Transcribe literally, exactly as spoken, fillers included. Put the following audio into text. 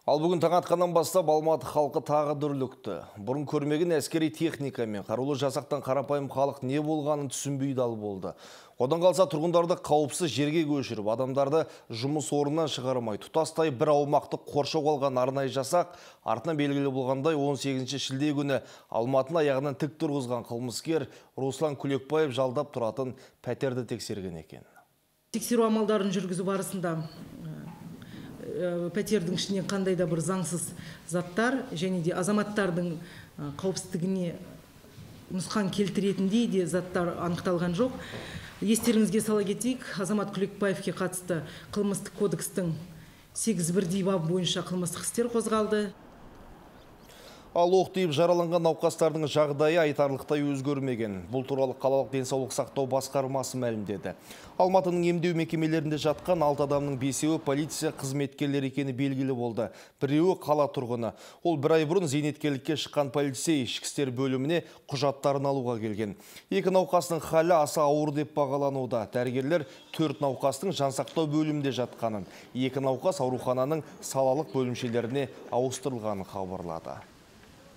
Ал бүгін таң атқаннан бастап Алматы халқы тағы дүрлікті. Бұрын көрмеген әскери техника мен қарулы жасақтан қарапайым халық не болғанын түсінбей дал болды. Одан қалса тұрғындарды қауіпсіз жерге көшіріп, адамдарды жұмыс орнынан шығармай, тұтастай бір аумақты қоршау алған арнайы жасақ, артынан белгілі болғандай он сегізінші шілде күні Алматыны аяғынан тік тұрғызған қылмыскер Руслан Күлекбаев жалдап тұратын пәтерді тексерген екен. Тексеру амалдарын жүргізу барысында пәтердің ішінен қандай да бір заңсыз заттар және де азаматтардың қауіпсіздігіне нұсқан келтіретіндей де заттар анықталған жоқ. Естеріңізге сала кетейік, Азамат Күлекбаевке қатысты қылмыстық кодекстің сегіз бірдей бабы бойынша қылмыстық істер қозғалды. Ал оқ тиіп жараланған науқастардың жағдайы айтарлықтай өзгермеген. Бұл туралы қалалық денсаулық сақтау басқармасы мәлімдеді. Алматының емдеу мекемелерінде жатқан алты адамның бесеуі полиция қызметкерлері екені белгілі болды. Біреуі қала тұрғыны. Ол бір ай бұрын зейнеткерлікке шыққан полицей ішкі істер бөліміне құжаттарын алуға келген. Екі науқастың халі аса ауыр деп бағалануда. Дәрігерлер төрт науқастың жансақтау бөлімінде жатқанын, екі науқас аурухананың салалық бөлімшелеріне ауыстырылғанын хабарлады.